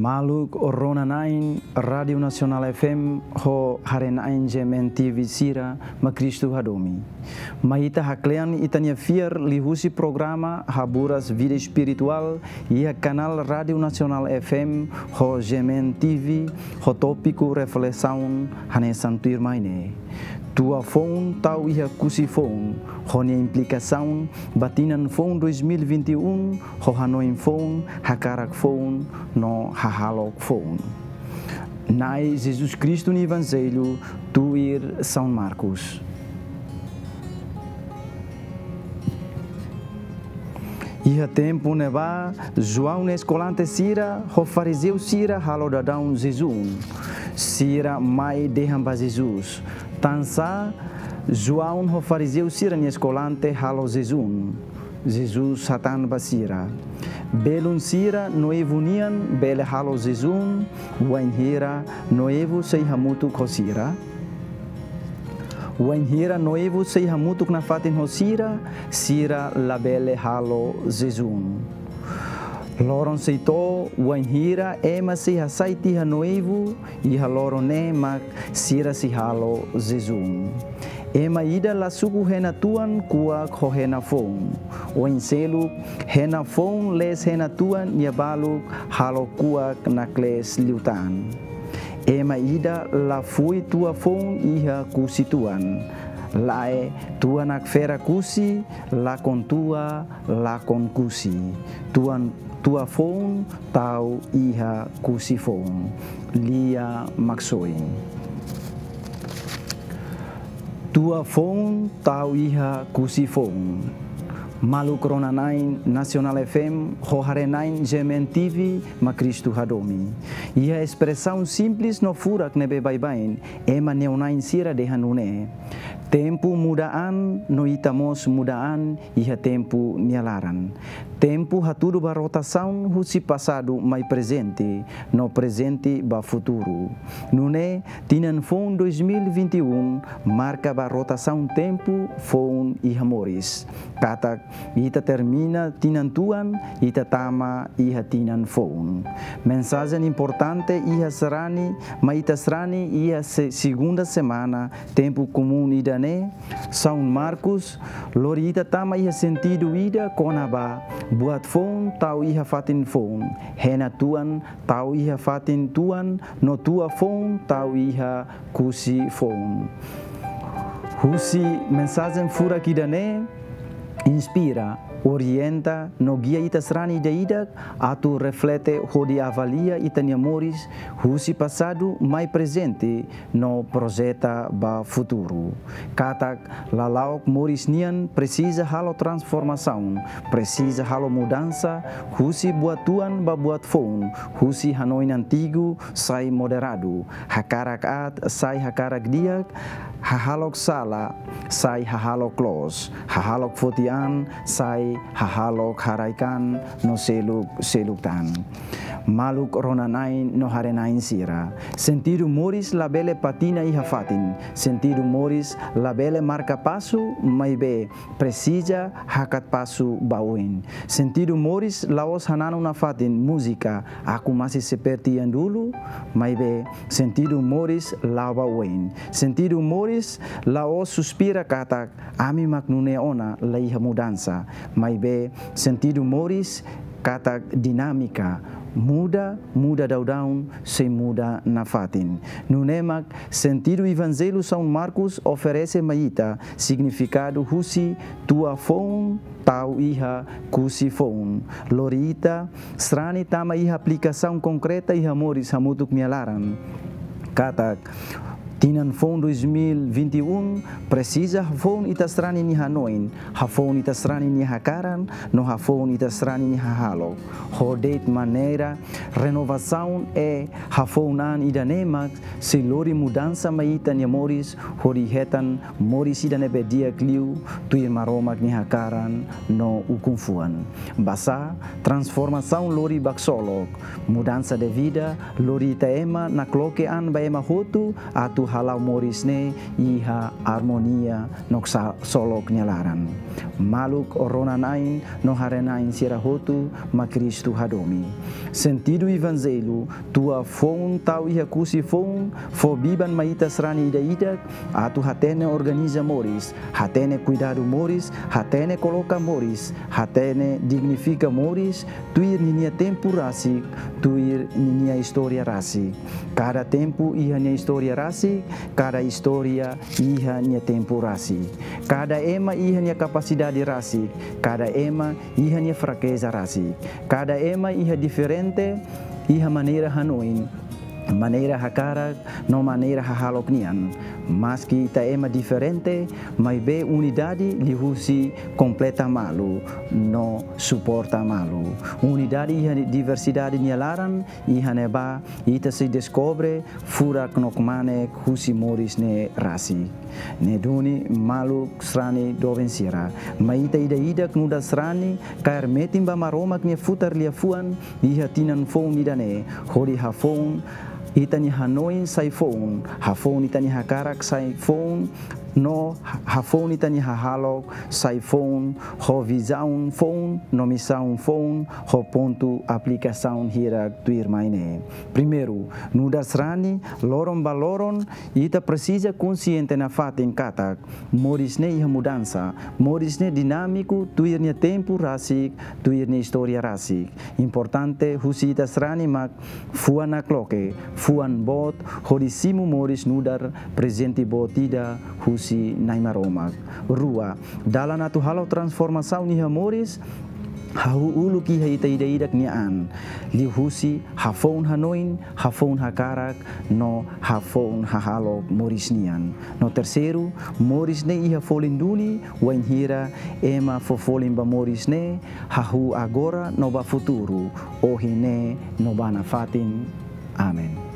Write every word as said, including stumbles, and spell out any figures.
Maluk rona-na'in Rádiu Nasionál F M ho haree-na'in G M N T V sira, mak Kristu hadomi. Mai ita haklean ita-nia fiar liuhusi programa Haburas Vida Espirituál iha kanál Rádiu Nasionál F M ho G M N T V, ho tópiku reflesaun hanesan tuirmai ne'e: Tua foun tau iha kusi foun, ho nia implikasaun ba tinan foun dois mil e vinte e um, ho hanoin foun, hakarak foun, no hahalok foun. Na'i Jesus Kristu nia Evanjellu tuir São Marcos. Iha tempu ne'ebá, João nia eskolante sira ho farizeu sira halo daudaun jejún. Sira mai dehan ba Jesus: Tansá João ho farizeu sira-nia eskolante halo jejún? Jesus hatán ba sira: Belun sira noivu nian bele halo jejún wainhira noivu sei hamutuk ho sira? Wainhira noivu sei hamutuk nafatin ho sira, sira labele halo jejún. Loron sei to'o, wainhira ema sei hasai tiha noivu, iha loron ne'e mak sira sei halo jejún. Ema ida la suku hena tuan kuak ho hena foun. Oin seluk, hena foun lees hena tuan nia baluk halo kuak naklees liután. Ema ida la fui tua foun iha kusi tuan. Lae, tua nakfera kusi, lakon tua, lakon kusi. Tuan, tua foun tau iha kusi foun. Lia Maksoin. Tua foun tau iha kusi foun. Maluk rona-na'in Nasionál F M ho haree-na'in G M N T V, mak Kristu hadomi. Iha espresaun simples no furak ne'ebé baibain, ema neon-na'in sira dehan nune'e: Tempu muda an, no ita mós muda an iha tempu nia laran. Tempu hatudu ba rotasaun husi pasadu mai prezente, no prezente ba futuru. Nune'e, tinan foun dois mil e vinte e um marka ba rotasaun tempu foun iha moris. Katak ita termina tinan tuan, ita tama iha tinan foun. Mensajen importante iha sarani, mai ita sarani iha se-, segunda semana tempu komún ida-ne'e, São Marcos, lori ita tama iha sentidu ida kona-ba buat foun tau iha fatin foun, hena tuan tau iha fatin tuan, no tua foun tau iha kusi foun. Husi mensajen furak ida-ne'e, inspira, orienta, no gia ita sarani ida-idak atu reflete hodi avalia ita-nia moris husi pasadu mai prezente, no projeta ba futuru. Katak lala'ok moris nian presiza halo transformasaun, presiza halo mudansa, husi buat tuan ba buat foun, husi hanoin antigu sai moderadu, hakarak aat sai hakarak di'ak, hahalok sala sai hahalok loos, hahalok foti an sai hahalok haraik an, no seluk-seluk tan. Maluk rona-na'in no haree-na'in sira, sentidu moris labele patina iha fatin. Sentidu moris labele marka pasu, maibé presiza hakat pasu ba oin. Sentidu moris la'ós hananu nafatin múzika "Aku Masih Seperti Yang Dulu", maibé sentidu moris la'o ba oin. Sentidu moris la'ós suspira katak "Ami mak nune'e ona, la iha mudansa", maibé sentidu moris katak dinámika, muda, muda daudaun, sei muda nafatin. Nune'e mak sentidu Evanjellu São Marcos oferese mai ita signifikadu husi tua foun tau iha kusi foun. Lori ita sarani tama iha aplikasaun konkreta iha moris hamutuk nia laran. Katak tinan foun dois mil e vinte e um presiza hafoun ita sarani nia hanoin, hafoun ita sarani nia hakaran, no hafoun ita sarani nia hahalok. Ho de'it maneira renovasaun, e hafoun an ida-ne'e mak sei lori mudansa mai ita-nia moris, hodi hetan moris ida ne'ebé di'ak liu tuir Maromak nia hakaran no ukun-fuan. Basá, transformasaun lori ba ksolok. Mudansa de vida lori ita ema nakloke an ba ema hotu atu hala'o moris ne'e iha armonia no ksolok nia laran. Maluk rona-na'in no haree-na'in sira hotu mak Kristu hadomi. Sentidu Evanjellu, tua foun tau iha kusi foun, fó biban mai ita sarani ida-idak, atu hatene organiza moris, hatene kuidadu moris, hatene koloka moris, hatene dignifika moris, tuir ninia tempu rasik, tuir ninia istória rasik. Kada tempu iha nia istória rasik, kada istória iha nia tempu rasik. Kada ema iha nia kapasidade rasik, kada ema iha nia frakeza rasik. Kada ema iha diferente, iha maneira hanoin, maneira hakarak, no maneira hahalok nian. Maski ita ema diferente, maibé unidade liuhusi kompleta malu no suporta malu. Unidade iha diversidade nia laran, iha ne'ebá ita sei deskobre furak no kmanek husi moris ne'e rasik. Ne'e duni maluk sarani doben sira, mai ita ida-idak nu'udar sarani kaer metin ba Maromak nia futar liafuan, iha tinan foun ida-ne'e, hodi hafoun ita-nia hanoin sai foun, hafoun ita-nia hakarak sai foun, no hafoun ita-nia hahalok sai foun, ho vizaun foun, no misaun foun, ho pontu aplikasaun hirak tuirmai ne'e. Primeiru, nu'udar sarani, loron ba loron, ita presiza konsiente nafatin katak moris ne'e iha mudansa, moris ne'e dinámiku, tuir nia tempu rasik, tuir nia istória rasik. Importante husi ita sarani mak fuan nakloke, fuan boot, hodi simu moris nu'udar prezente boot ida husi Na'i Maromak. Rua, dalan atu halo transformasaun iha moris, hahú uluk iha ita ida-idak nia an, liuhusi hafoun hanoin, hafoun hakarak, no hafoun hahalok moris nian. No terseiru, moris ne'e iha folin duni, wainhira ema fó folin ba moris ne'e, hahú agora no ba futuru, ohin ne'e no ba nafatin. Amen.